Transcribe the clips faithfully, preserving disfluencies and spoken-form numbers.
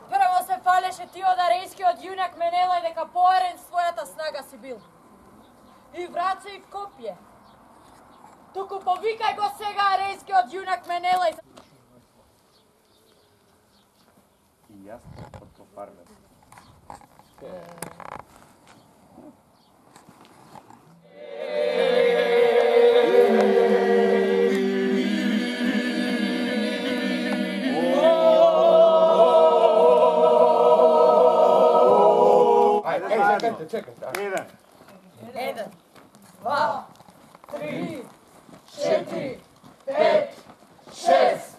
Прво се фалеше Теодарејскиот јунак Менелај дека поарен својата снага си бил. И враца и в копје. Туку повикај го сега арејскиот јунак Менелај. И јас од кофарме. Чекайте, чекайте. Еден. Еден, два, три, четири, пет, шест,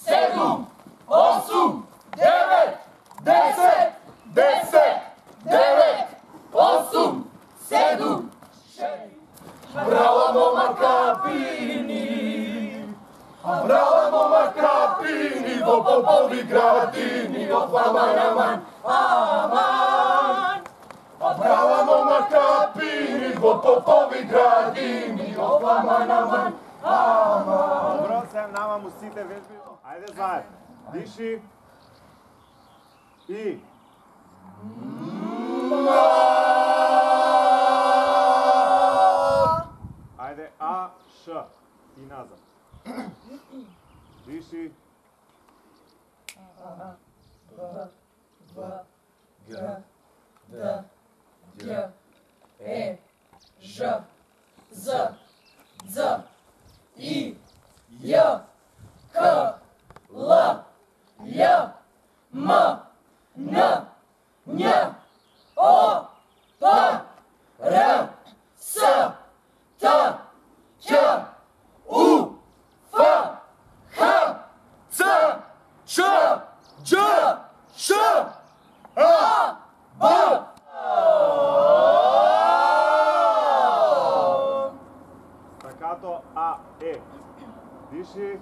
седум, осум, девет, десет, десет, девет, осум, седум, шест. Брала момака пини, брала момака пини во попови градини, во аман, аман, аман. Брала момака пини во попови градини, во аман, аман, аман. Добро, се намам усите вежби. Ајде заедно. Диши. И. Ајде, А, Ш. И назад. Диши. Б, В, Г, Д, Ј, Е, Ж, З, Дз, И, Ј, К, Л, Ј, М, Н, Њ, О, П, Р, С, Т, Ќ, У, Ф, Х, Ц, Ч, Дж, Ш, А, Б. Стакато А, Е. Диши.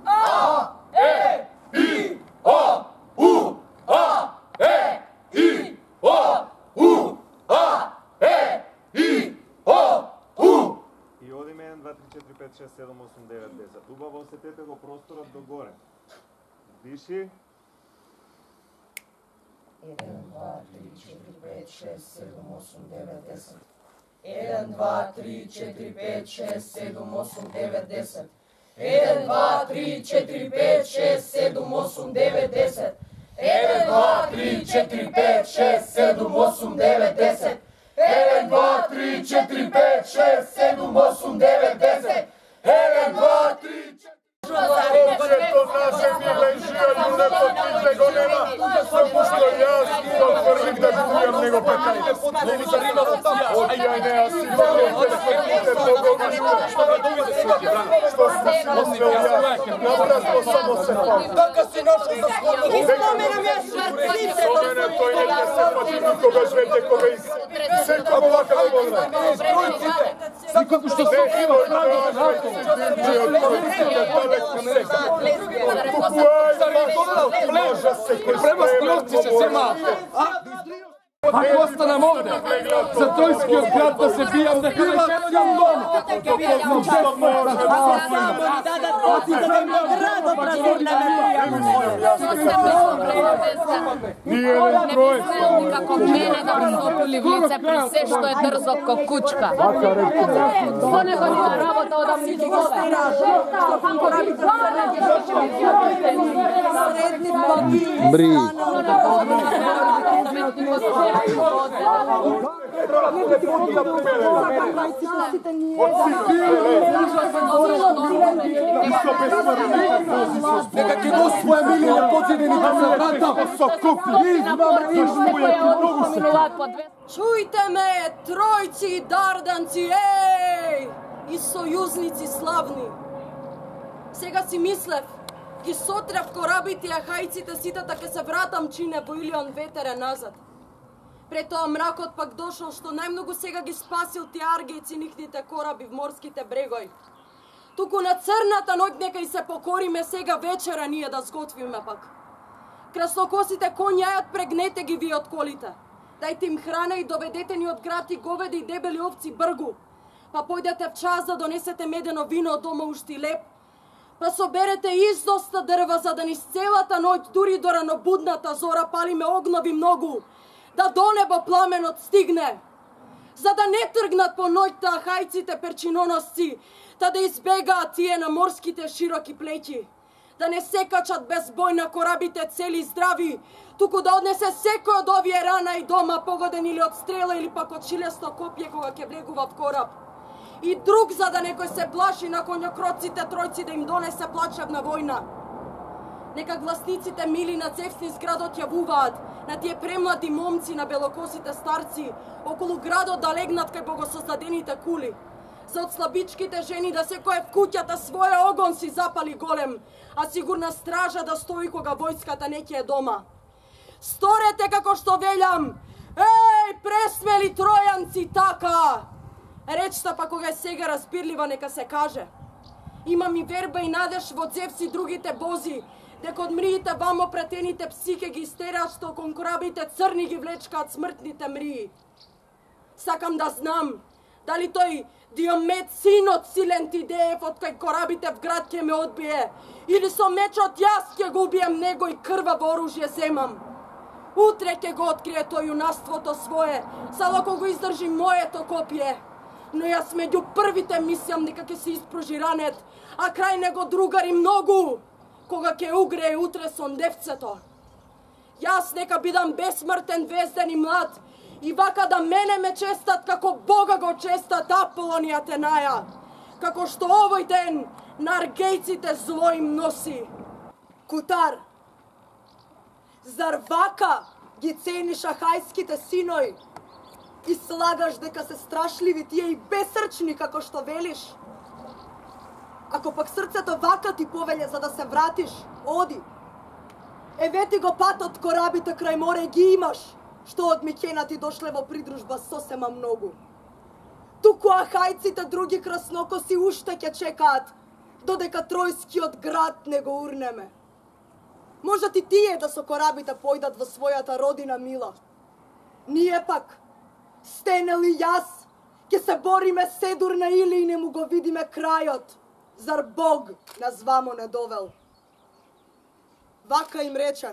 А, Е, И, О, У, А, Е, И, О, У, А, Е, И, О, У. И одиме еден, два, три, четири, пет, шест, седум, осум, девет, десет. Убаво осетете го просторот до горе. Диши. еден, два, три, четири, пет, шест, седум, осум, девет, десет. еден, два, три, четири, пет, шест, седум, осум, девет, десет. еден, два, три, четири, пет, шест, седум, осум, девет, десет. еден, два, три, четири, пет, шест, седум, осум, девет, десет. еден, два, три, четири, пет, шест, седум, осум, девет, десет. еден, два, три, четири... Обчето наше миле жија људето ти го нема, само што јас го тврдик да чујам него пекај. Не ми заримало таму. Одјај не, аз си го пресветите Бога људе. Што га доведе свети, бране? Што си си мислел јас? Напразно само се фал. Така си нашол за скоро. Испоменам јас шварците. Со мене тој не ќе се пати никогаш веќе кога и секој овака да го знае. Стројците. Како што се ова Према стрелци се сема. Ако останам овде, за Тројскиот град да се бијам, да кривачам дом. Ниједен тројец. Како мене да пресопили в лице при се што е дрзо ко кучка. Со него нема работа одам нити вода. Бри. Нека ќе го своја милија подзидените за врата со купи. Чујте ме, тројци и дарданци, еј! И сојузници славни. Сега си мислев, ги сотрев корабите и ахајците сите, така се вратам чине во Илион ветере назад. Пред тоа мракот пак дошол, што најмногу сега ги спасил тие аргејци нихните кораби в морските брегои. Туку на црната ноќ нека и се покориме сега вечера ние да сготвиме пак. Краснокосите коњи јајат прегнете ги вие од колите. Дајте им храна и доведете ни од град и говеди и дебели овци бргу. Па појдете в час да донесете медено вино од дома ушти леп. па соберете издоста дрва за да низ целата ноќ, дури до ранобудната зора, палиме огнови многу, да до небо пламенот стигне, за да не тргнат по ноќта хајците перчиноносци, та да избегаат тие на морските широки плеќи, да не се качат без бој на корабите цели и здрави, туку да однесе секој од овие рана и дома погоден или од стрела или пак од шилесто копје кога ќе влегува в кораб. И друг за да некој се плаши на коњокроците тројци да им донесе плачевна војна. Нека гласниците мили на Цевсни градот јавуваат на тие премлади момци, на белокосите старци, околу градот да легнат кај богосоздадените кули. За од слабичките жени да секој в куќата своја огон си запали голем, а сигурна стража да стои кога војската не ќе е дома. Сторете како што велјам! Еј, пресмели тројанци, така! Речта па кога е сега разбирлива, нека се каже. Имам и верба и надеж во Зевс и другите бози, дека од мриите вамо претените пси ке ги истераат, што кон корабите црни ги влечкаат смртните мрии. Сакам да знам, дали тој Диомед, синот силен Тидеев, од кај корабите в град ќе ме одбие, или со мечот јас ќе го убием него и крваво оружје земам. Утре ќе го открие тој юнаството свое, само ако го издржи моето копје. Но јас меѓу првите мислам дека ќе се испружи ранет, а крај него другари многу, кога ќе угрее утре сондевцето. Јас нека бидам бесмртен, везден и млад, и вака да мене ме честат како Бога го честат Аполон и Атенаја, како што овој ден на аргејците зло им носи. Кутар, зар вака ги цениш ахајските синој и слагаш дека се страшливи тие и бесрчни како што велиш? Ако пак срцето вака ти повеле за да се вратиш, оди. Евети го патот корабите крај море ги имаш, што од Микена ти дошле во придружба сосема многу. Туку ахајците други краснокоси уште ќе чекаат, додека Тројскиот град не го урнеме. Можат и тие да со корабите појдат во својата родина мила. Ние пак, Стенел и јас, ќе се бориме седур на или и не му го видиме крајот. Зар Бог нас вамо не довел? Вака им рече.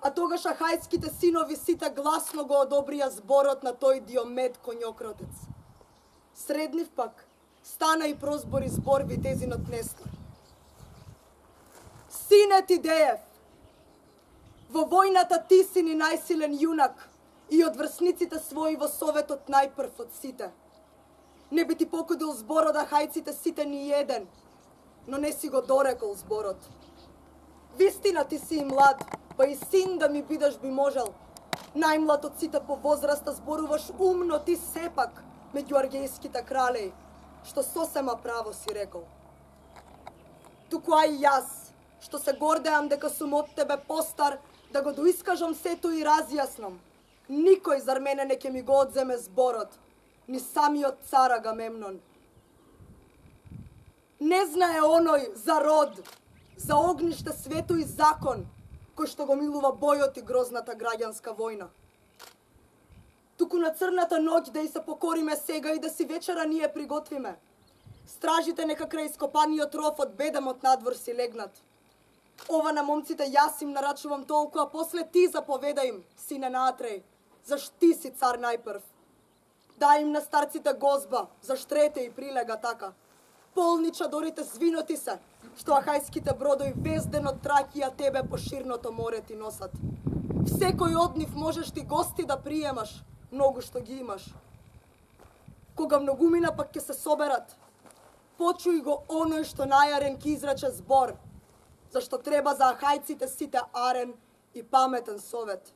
А тогаш ахајските синови сите гласно го одобрија зборот на тој Диомед коњокротец. Среднив пак стана и прозбори збор витезинот Нестор. Сине Тидеев, во војната ти си ни најсилен јунак и од врсниците своји во советот најпрв од сите. Не би ти покудил зборот ахајците сите ни еден, но не си го дорекол зборот. Вистина ти си и млад, па и син да ми бидеш би можел. Најмлад од сите по возраста зборуваш умно ти сепак меѓу аргејските кралеи, што сосема право си рекол. Туку а и јас, што се гордеам дека сум од тебе постар, да го доискажам сето и разјаснам. Никој зар мене не ќе ми го одземе зборот, ни самиот цар Агамемнон. Не знае оној за род, за огниште, свето и закон, кој што го милува бојот и грозната граѓанска војна. Туку на црната ноќ да и се покориме сега и да си вечера ние приготвиме. Стражите нека крај ископаниот ров од бедемот надвор си легнат. Ова на момците јас им нарачувам толку, а после ти заповеда им, сине на Атреј, заш ти си цар најпрв. Дај им на старците гозба, заш трете и прилега така. Полни чадорите звиноти се, што ахајските бродови везден од Тракија тебе по ширното море ти носат. Секој од нив можеш ти гости да приемаш, многу што ги имаш. Кога многумина пак ќе се соберат, почуј го оној што најарен ки изрече збор, зашто треба за ахајците сите арен и паметен совет.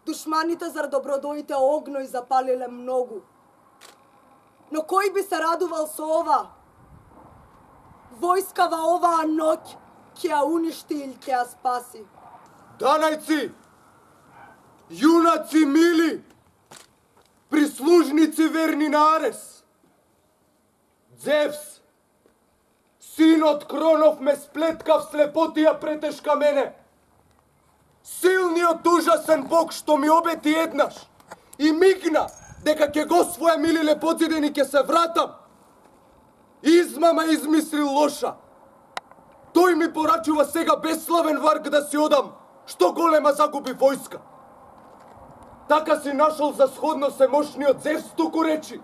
Душманите зар добродоите огној запалиле многу. Но кој би се радувал со ова? Војскава оваа ноќ ќе ја уништи или ќе ја спаси. Данајци, јунаци мили, прислужници верни на Арес. Зевс, синот Кронов ме сплеткав слепотија претешка мене. Силниот ужасен Бог што ми обети еднаш и мигна дека ќе го своја мили лепоциден и ќе се вратам. Измама измислил лоша. Тој ми порачува сега бесславен варг да си одам, што голема загуби војска. Така си нашол за сходно се мошниот Зевс туку речи.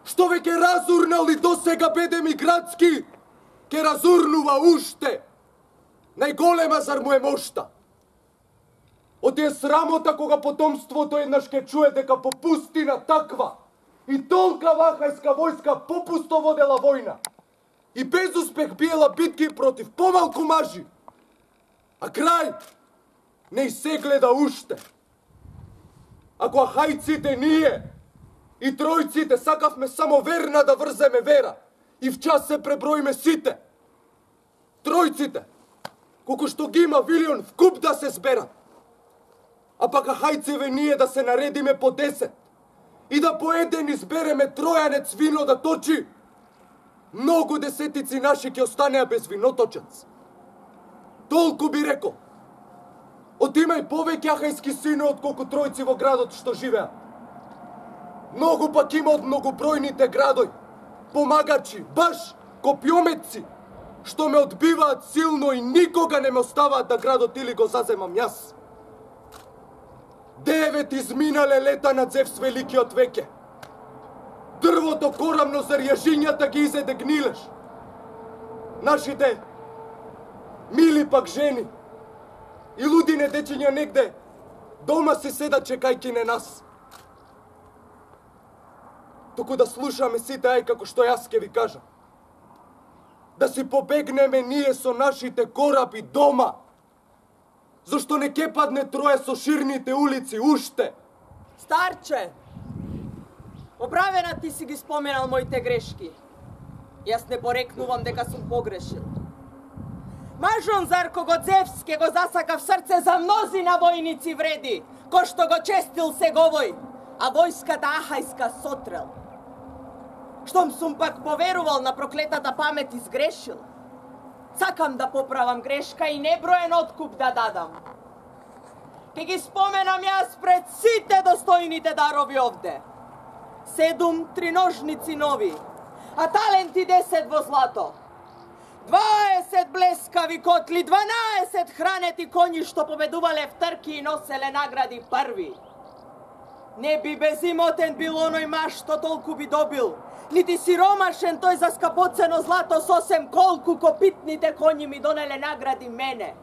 Што веќе разурнал и досега беде ми градски, ке разурнува уште. Најголема зар му е мошта. Оти е срамота кога потомството еднаш ке чуе дека по пустина таква и толка вахајска војска попусто водела војна и без успех биела битки против помалку мажи. А крај не и се гледа уште. Ако ахајците ние и тројците сакавме само верна да врземе вера и в час се преброиме сите, тројците, колку што ги има Вилион в куп да се зберат, а пак ахајцеве ние да се наредиме по десет и да по еден избереме тројанец вино да точи, многу десетици наши ќе останеа без виноточец. Толку би рекол. Отимај повеќе ахајски сино отколку тројци во градот што живеат. Многу пак има од многобројните градој, помагачи, баш копјометци, што ме одбиваат силно и никога не ме оставаат да градот или го заземам јас. Девет изминале лета на Зевс великиот веќе. Дрвото корамно за јажињата ги изеде гнилеш. Нашите мили пак жени и лудине дечиња негде дома си седат чекајки на нас. Току да слушаме сите ај како што јас ке ви кажам. Да си побегнеме ние со нашите кораби дома, зашто не ке падне троje со ширните улици уште. Старче, оправена ти си ги споменал моите грешки. Јас не порекнувам дека сум погрешил. Мажон зар кого Зевс ке го засака в срце за мнозина војници вреди, кој што го честил сеговој, а војската ахајска сотрел. Штом сум пак поверувал на проклетата памет и сгрешил, сакам да поправам грешка и неброен откуп да дадам. Ке ги споменам јас пред сите достојните дарови овде. Седум триножници нови, а таленти десет во злато. дваесет блескави котли, дванаесет хранети коњи што победувале в трки и носеле награди први. Не би безимотен бил оној маж што толку би добил, нити сиромашен тој за скапоцено злато сосем колку копитните коњи ми донеле награди мене.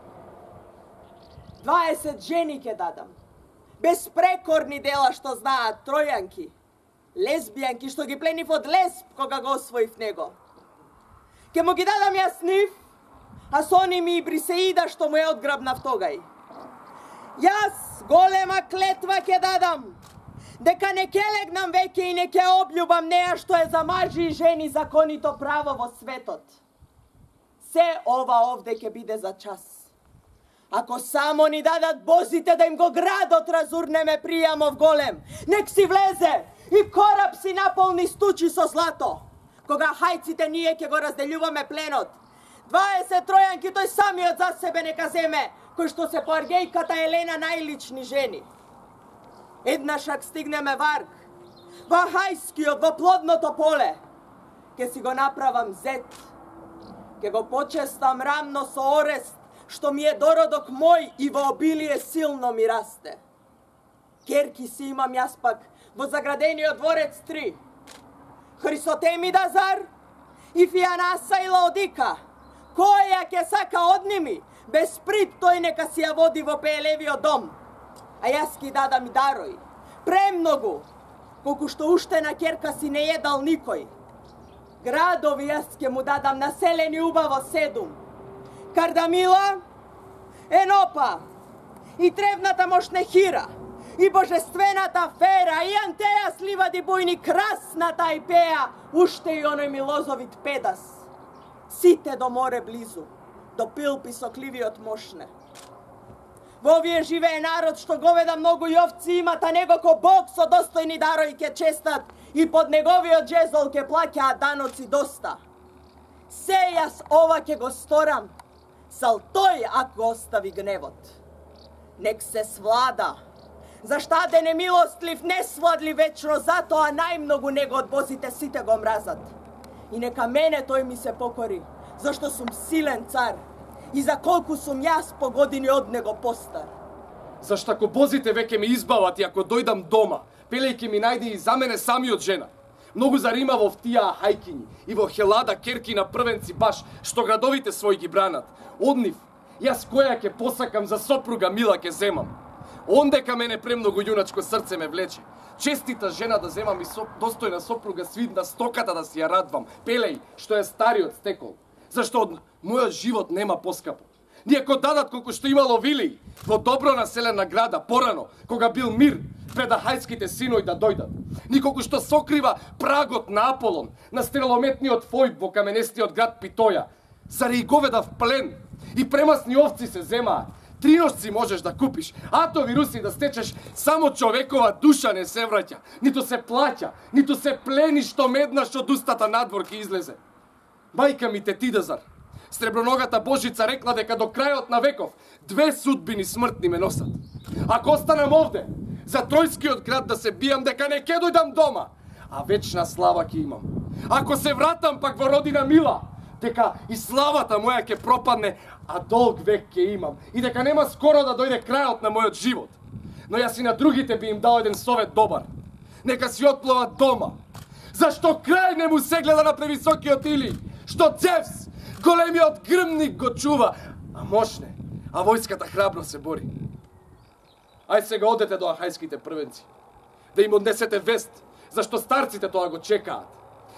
дваесет жени ке дадам, безпрекорни дела што знаат тројанки, лесбијанки што ги пленив од лесб кога го освоив него. Ке му ги дадам јас нив, а со ними и Брисеида што му е одграбнав тогај. Јас голема клетва ке дадам, дека не ке легнам веќе и не ке обљубам неа што е за мажи и жени законито право во светот. Се ова овде ке биде за час. Ако само ни дадат бозите да им го градот разурнеме пријамов голем, нек си влезе и кораб си наполни стучи со злато. Кога хајците ние ќе го разделјуваме пленот, дваесет тројанки тој самиот за себе нека земе, кој што се по аргејката Елена најлични жени. Еднашак стигнеме варг, во хајскиот, во плодното поле, ке си го направам зет, ке го почестам рамно со орест, што ми е дородок мој и во обилие силно ми расте. Керки си имам јас пак во заградениот дворец три. Хрисотемида зар и Фијанаса и Лаодика, која ќе сака од ними, без прит тој нека си ја води во пеелевиот дом. А јас ки дадам и дарој, премногу, колку што уште на керка си не едал никој. Градови јас ке му дадам населени убаво седум. Кардамила, Енопа, и тревната Мошнехира, и божествената Фера, и Антеја с ливади бујни, красната Ајпеја, уште и оној милозовит Педас. Сите до море близу, до Пилпи со кливиот Мошне. Во овие живее народ што говеда многу и овци имат, а него ко Бог со достојни дарои ке честат и под неговиот джезол ке плаќаат даноци доста. Се јас ова ке го сторам, сал тој ако остави гневот. Нек се свлада. Заштаде немилостлив, не свладли вечно, затоа најмногу него од бозите сите го мразат. И нека мене тој ми се покори, зашто сум силен цар. И за колку сум јас по години од него постар. Зашто ако бозите веќе ме избават и ако дојдам дома, пелејќи ми најде и за мене самиот жена. Многу зарима во тија хајкињи и во хелада керки на првенци баш, што градовите свој ги бранат. Од нив, јас која ќе посакам за сопруга мила ќе земам. Ондека мене премногу јуначко срце ме влече. Честита жена да земам и соп, достојна сопруга свидна стоката да си ја радвам. Пелеј, што е стариот стекол. Зашто од мојот живот нема поскапо. Нијако дадат колку што имало Вилиј, во добро населена града, порано, кога бил мир, пред ахајските синои да дојдат. Николку што сокрива прагот на Аполон, на стрелометниот Фојб во каменестиот град Питоја. Заради говеда в плен и премасни овци се земаат. Триношци можеш да купиш, ато вируси да стечеш, само човекова душа не се враќа. Ниту се плаќа, ниту се плени што меднаш од устата надвор ке излезе. Мајка ми Тетидазар, Среброногата Божица рекла дека до крајот на веков две судбини смртни ме носат. Ако останам овде, за Тројскиот град да се бијам, дека не ке дојдам дома, а вечна слава ќе имам. Ако се вратам пак во родина мила, дека и славата моја ќе пропадне, а долг век ќе имам, и дека нема скоро да дојде крајот на мојот живот. Но јас и на другите би им дал еден совет добар. Нека си отплуват дома. Зашто крај не му се гледа на превисокиот Илиј, што Цевс, големиот грмник, го чува, а мошне, а војската храбро се бори. Ај сега одете до ахајските првенци, да им однесете вест, зашто старците тоа го чекаат.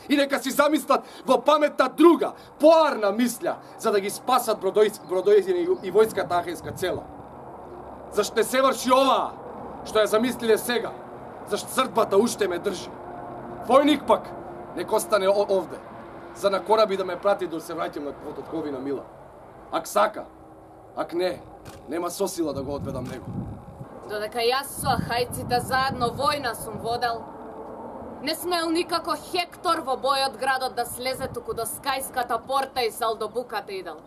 И нека си замислат во паметта друга, поарна мисля, за да ги спасат бродојците и војската ахајска цела. Зашто не се врши оваа, што ја замислиле сега, зашто црквата уште ме држи. Војник пак, нека остане овде, за на кораби да ме прати да се враќам на Пототковина мила. Ак сака, ак не, нема сосила да го одведам него. Додека јас со ахајците заедно војна сум водел, не смел никако Хектор во бојот градот да слезе туку до Скајската порта и сал до буката идел.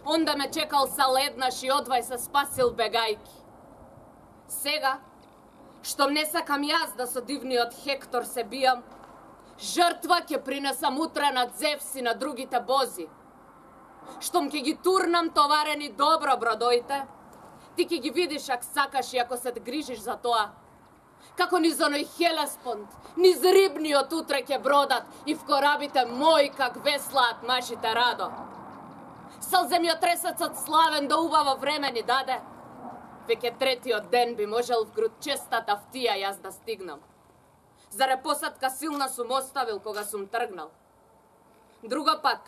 Онда ме чекал сал еднаш и одвај се спасил бегајки. Сега, штом не сакам јас да со дивниот Хектор се бијам, жртва ќе принесам утре на Зевс и на другите бози. Штом ќе ги турнам товарени добро бродоите, ти ќе ги видиш ако сакаш и ако се грижиш за тоа. Како низ оној Хелеспонд, низ рибниот утре ќе бродат и в корабите мои как веслаат машите радо. Сал земјотресецот славен до убаво време ни даде. Веќе третиот ден би можел в грудчестата втија јас да стигнам. Заре посадка силна сум оставил кога сум тргнал. Друга пак,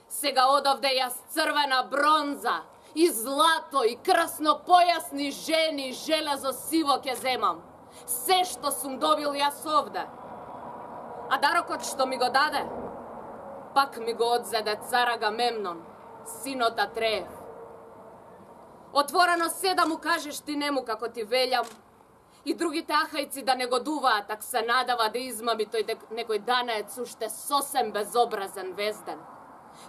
сега одовде јас црвена бронза, и злато, и красно појасни жени, и железо сиво ќе земам. Се што сум добил јас овде. А дарокот што ми го даде, пак ми го одзеде цар Агамемнон, синот Атреев. Отворено се да му кажеш ти нему како ти велјам, и другите ахајци да не годуваат, ако се надава да измами тој дек некој данаец уште сосем безобразен везден.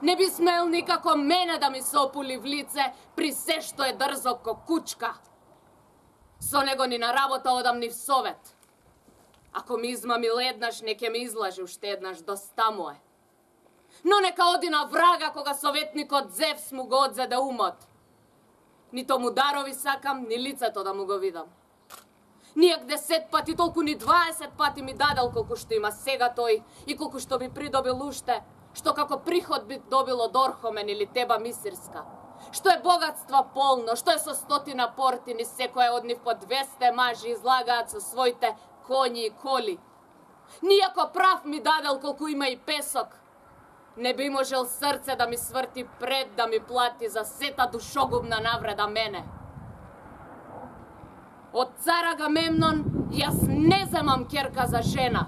Не би смел никако мене да ми се опули в лице при се што е дрзок ко кучка. Со него ни на работа одам ни в совет. Ако ми измами еднаш, не ке ми излажи уште еднаш, доста му е. Но нека оди на врага кога советникот Зевс му го одзеде умот. Нито му дарови сакам, ни лицето да му го видам. Нијак десет пати, толку ни дваесет пати ми дадел колку што има сега тој и колку што би придобил уште, што како приход би добил од Орхомен или Теба Мисирска. Што е богатства полно, што е со стотина портини, секоја од нив по двесте мажи излагаат со своите коњи и коли. Нијако прав ми дадел колку има и песок, не би можел срце да ми сврти пред да ми плати за сета душогубна навреда мене. Од цар Агамемнон јас не земам керка за жена.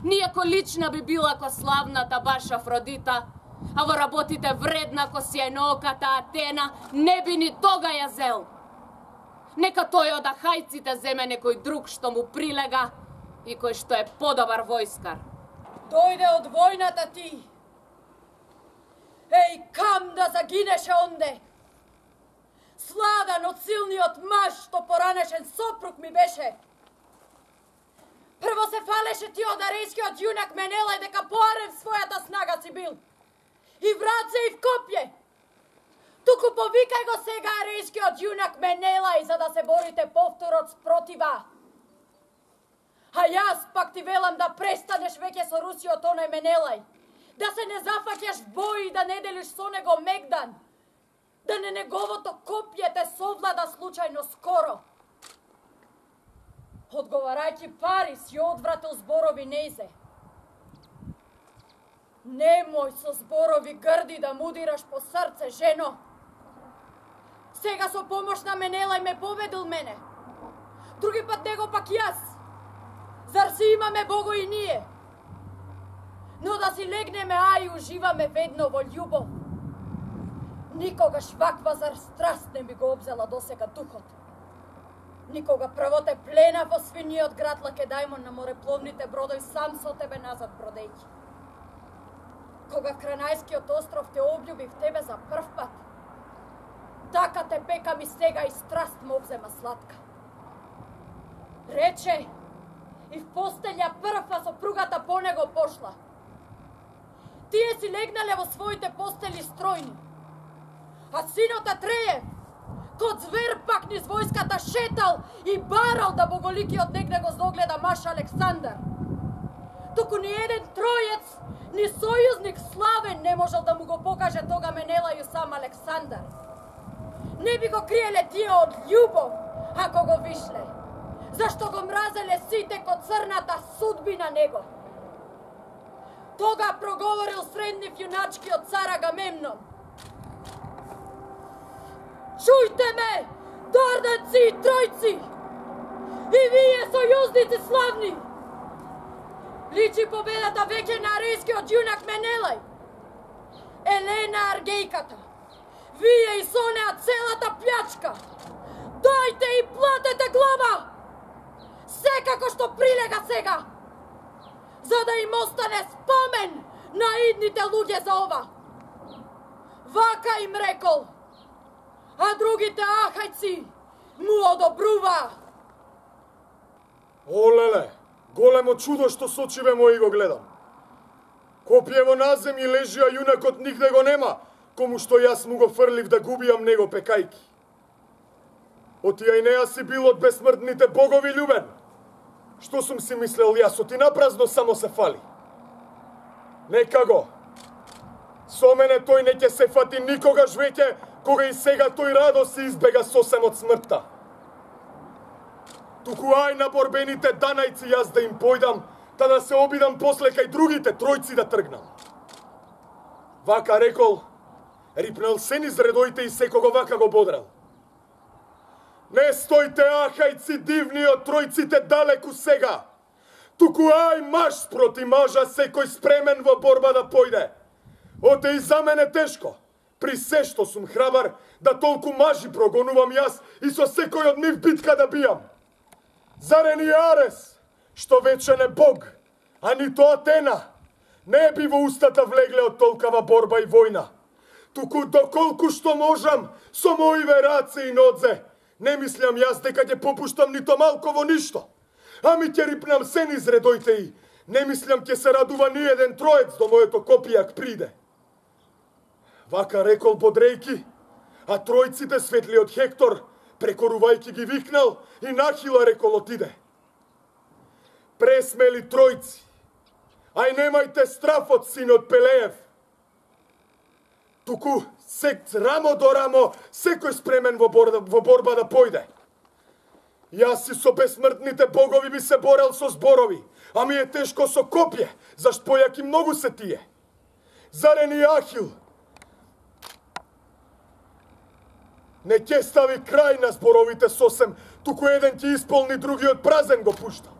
Нијако лична би била ко славната баш Афродита, а во работите вредна ко сјајнооката Атена, не би ни тога ја зел. Нека тој од ахајците земе некој друг што му прилега и кој што е подобар војскар. Дојде од војната ти. Еј, кам да загинеше онде. Сладан од силниот маж што поранешен сопруг ми беше. Прво се фалеше ти од арейскиот јунак Менелај дека поарен својата снага си бил. И враце и в копје. Туку повикај го сега арейскиот јунак Менелај за да се борите повторот спротива. А јас пак ти велам да престанеш веќе со Русиот оној Менелај. Да се не зафаќаш в бој и да не делиш со него мегдан. Да не неговото копје те совлада случајно скоро. Одговарајќи Парис ја одвратил зборови нејзе. Немој со зборови грди да мудираш по срце, жено. Сега со помош на Менелај ме победил мене. Други пат него пак јас. Зар си имаме Бого и ние? Но да си легнеме, а и уживаме ведно во љубов. Никогаш ваква зар страст не би го обзела досега духот. Никога прво те плена во свиниот град Лакедајмон на морепловните бродови сам со тебе назад бродејќи. Кога Кранајскиот остров те обљуби в тебе за прв пат, така те пекам и сега и страст ме обзема сладка. Рече, и в постелја прва сопругата по него пошла. Тие си легнале во своите постели стројни, а синот Атреев, код звер пак низ војската шетал и барал да боголикиот негде го зогледа маш Александар. Туку ни еден тројец, ни сојузник славен не можел да му го покаже тога Менелају сам Александар. Не би го криеле тие од љубов, ако го вишле, зашто го мразеле сите код црната судбина него. Тога проговорил среднив јуначкиот цар Агамемнон. Чујте ме, дарданци и тројци, и вие сојузници славни! Личи победата веќе на арейскиот јунак Менелај. Елена Аргејката, вие и со неа целата плячка, дојте и платете глава! Секако што прилега сега, за да им остане спомен на идните луѓе за ова. Вака им рекол, а другите ахајци му одобрува. Олеле, големо чудо што с очиве мои го гледам. Копјево на земји лежи, а јунакот нигде го нема, кому што јас му го фрлив да губијам него пекајки. Отија и неа си бил од безсмртните богови љубен. Што сум си мислел јас, оти напразно само се фали. Нека го. Со мене тој не ќе се фати никогаш веќе, кога и сега тој радо се избега сосем од смртта. Туку ај на борбените данајци јас да им појдам, та да се обидам после кај другите тројци да тргнам. Вака рекол, рипнал се низ редоите и секого вака го бодрал. Не стојте, ахајци дивни од тројците далеку сега. Туку ај маж спроти мажа, секој спремен во борба да појде. Оте и за мене тешко, при се што сум храбар, да толку мажи прогонувам јас и со секој од нив битка да бијам. Зарен и Арес, што вече не бог, а нито Атена, не би во устата влегле од толкава борба и војна. Туку доколку што можам, со моиве раце и нодзе, не мислам јас дека ќе попуштам нито малко во ништо. Ами ќе рипнам се низ редоите и не мислам ќе се радува ни еден троец до моето копијак приде. Вака рекол бодрејки, а тројците светли од Хектор, прекорувајки ги викнал и нахила рекол отиде. Пресмели тројци, ај немајте страф од синот Пелеев. Туку сек рамо до рамо, секој спремен во борба, во борба да појде. Јас и со безсмртните богови би се борел со зборови, а ми е тешко со копје, зашто појаки многу се тие. Зарен и Ахил не ќе стави крај на зборовите сосем, туку еден ќе исполни, другиот празен го пушта.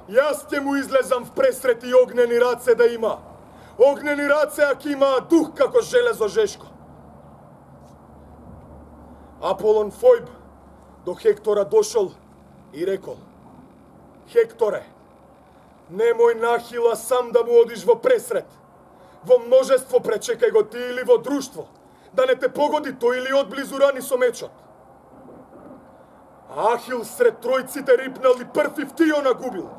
Јас ќе му излезам в пресрет и огнени раце да има. Огнени раце, аки има дух како железо жешко. Аполон Фојб до Хектора дошол и рекол: Хекторе, немој нахила сам да му одиш во пресрет. Во множество пречекај го ти или во друштво, да не те погоди тој или одблизу рани со мечот. Ахил сред тројците рипнал и прв Ифтио нагубил.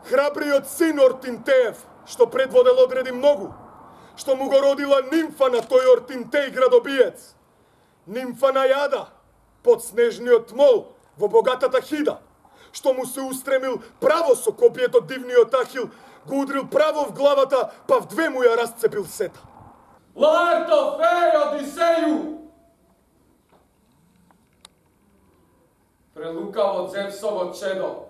Храбриот син Ортинтеев, што предводел одреди многу, што му го родила нимфа на тој Ортинтеј градобиец. Нимфа на јада, под снежниот мол, во богатата хида, што му се устремил право со копието дивниот Ахил, го удрил право в главата, па в две му ја расцепил сета. Лаерто феј Одисеју! Прелукаво Зевсово чедо.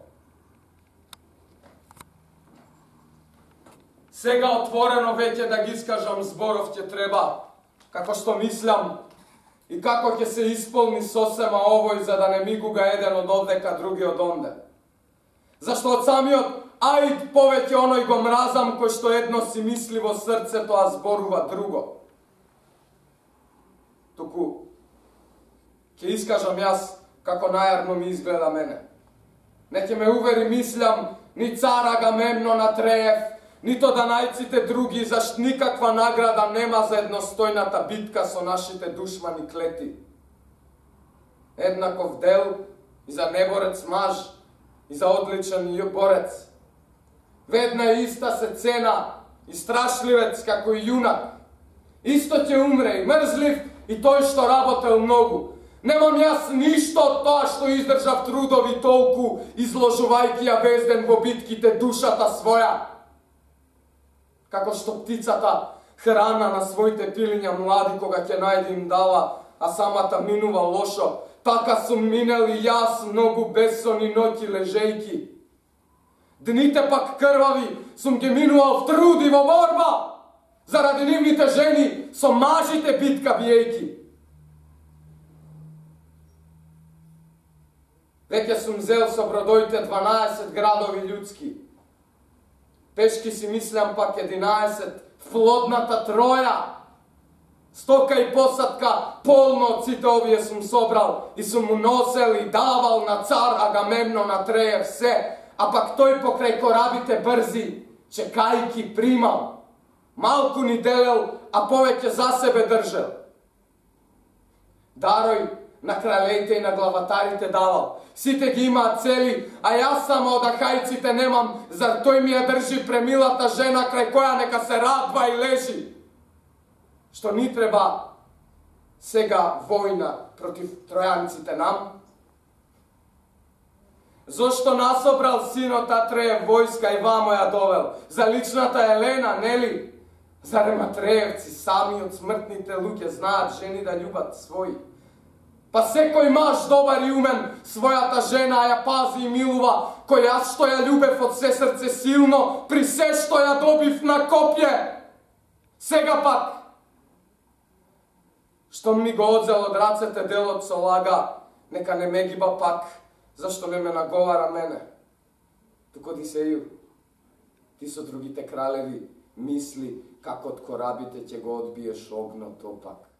Сега отворено веќе да ги искажам зборов ќе треба, како што мислам, и како ќе се исполни сосема овој, за да не мигуга еден од овдека, други од онде. Зашто од самиот Аид повеќе оној го мразам, кој што едно си мисли во срцето, а зборува друго. Туку, ќе искажам јас како најарно ми изгледа мене. Не ќе ме увери, мислам, ни цар Агамемнон Атреев, нито данајците други, зашто никаква награда нема за едностојната битка со нашите душмани клети. Еднаков дел и за неборец маж, и за одличен борец. Ведна и иста се цена, и страшливец како и јунак. Исто ќе умре и мрзлив, и тој што работел многу. Немам јас ништо од тоа што издржав трудови толку, изложувајќи ја везден во битките душата своја. Како што птицата храна на своите пилиња млади кога ќе најде им дава, а самата минува лошо, така сум минел и јас многу бессонни ноќи лежејки. Дните пак крвави сум ги минувал в труд и во борба, заради нивните жени со мажите битка биејки. Веќе сум зел со бродоите дванаесет градови људски. Пешки си мислам пак единаесет, флотната Троја. Стока и посадка полно од сите овие сум собрал и сум му носел и давал на цар Агамемнон Атреев се, а пак тој покрај корабите брзи, чекајки примал. Малку ни делел, а повеќе за себе држел. Дарој на кралеите и на главатарите давал. Сите ги имаат цели, а јас само од ахајците немам, зар тој ми ја држи премилата жена крај која нека се радва и лежи. Што ни треба сега војна против тројанците нам? Зошто насобрал синот Атреев војска и вамо ја довел? За личната Елена, нели? Зарем Атреевци сами од смртните луѓе знаат жени да љубат своји? Па секој маж добар и умен својата жена ја пази и милува, кој јас што ја љубев од се срце силно, при се што ја добив на копје. Сега пак, што ми го одзел од рацете делот со лага, нека не ме гиба пак, зашто не ме наговара мене. Туку Одисеју, ти со другите кралеви мисли како од корабите ќе го одбиеш огнот опак.